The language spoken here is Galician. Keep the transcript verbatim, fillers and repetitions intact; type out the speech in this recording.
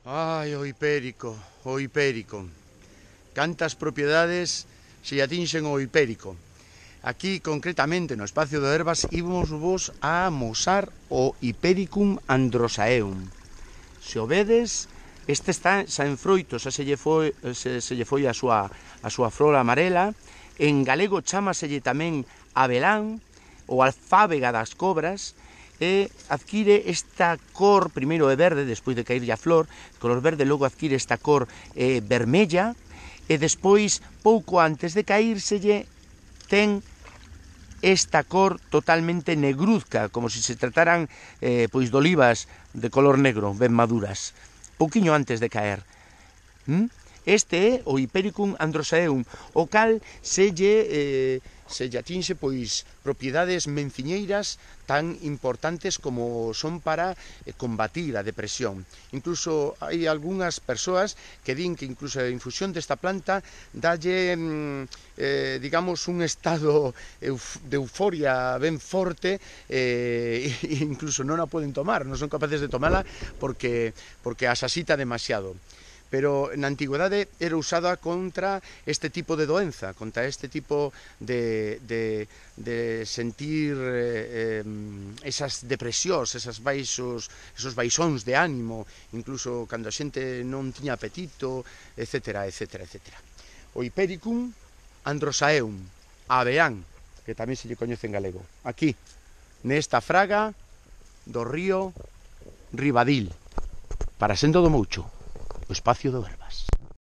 Ai, o hipérico, o hipérico. Cantas propiedades se atinxen o hipérico. Aquí, concretamente, no espacio do Herbas, íbamos vos a amosar o Hipericum androsaeum. Se o vedes, este está xa en froito, xa se lle foi, se, se lle foi a súa, a súa flor amarela. En galego chámaselle tamén abelán, ou alfábega das cobras, e adquire esta cor, primeiro é verde, despois de caírlle a flor, color verde, logo adquire esta cor eh, vermella, e despois, pouco antes de caírselle, ten esta cor totalmente negruzca, como se se trataran eh, pois de olivas de color negro, ben maduras, pouquiño antes de caer. ¿Mm? Este é o Hipericum androsaeum, o cal se lle, eh, se lle atinxe pois propiedades menciñeiras tan importantes como son para eh, combatir a depresión. Incluso hai algunhas persoas que din que incluso a infusión desta planta dalle, eh, digamos, un estado de euforia ben forte, eh, e incluso non a poden tomar, non son capaces de tomala porque, porque asasita demasiado. Pero na antigüedade era usada contra este tipo de doenza, contra este tipo de, de, de sentir eh, esas depresións, esas baixos, esos baixóns de ánimo, incluso cando a xente non tiña apetito, etcétera, etcétera, etcétera. O Hipericum androsaeum, abeán, que tamén se lle coñece en galego, aquí, nesta fraga do río Ribadil, para Sendo do Moucho, o espacio do Herbas.